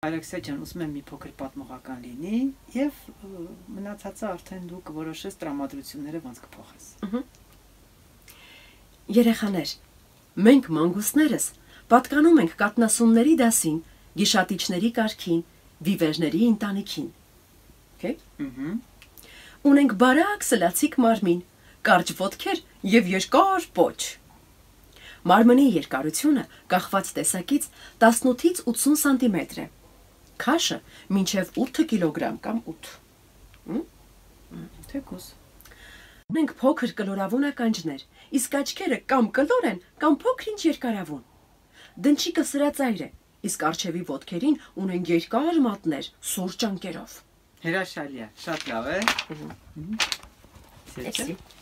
Ալեքսեյ ջան, ուզում եմ մի փոքր պատմողական լինի եւ մնացածը արդեն դու կորոշես տրամադրությունները ոնց կփոխես։ Երեխաներ, մենք մանգուստներս պատկանում ենք կատնասունների դասին, գիշատիչների կարգին, վիվերների ընտանիքին։ Okay? Ունենք բարակ սլացիկ մարմին, կարճ ոտքեր եւ երկար պոչ։ Մարմնի երկարությունը կախված տեսակից 18-ից 80 սանտիմետր է։ Քաշը մինչև 8 կիլոգրամ կամ 8։ Թեկուս։ Մենք փոքր կլորավուն ականջներ, իսկ աչքերը կամ կլոր են, կամ փոքր-ինչ երկարավուն։ Դնչիկը սրածայր է, իսկ առջևի ոտքերին ունեն երկար մատներ, սուր ճանկերով։ Հրաշալի է, շատ լավ է։ Merci.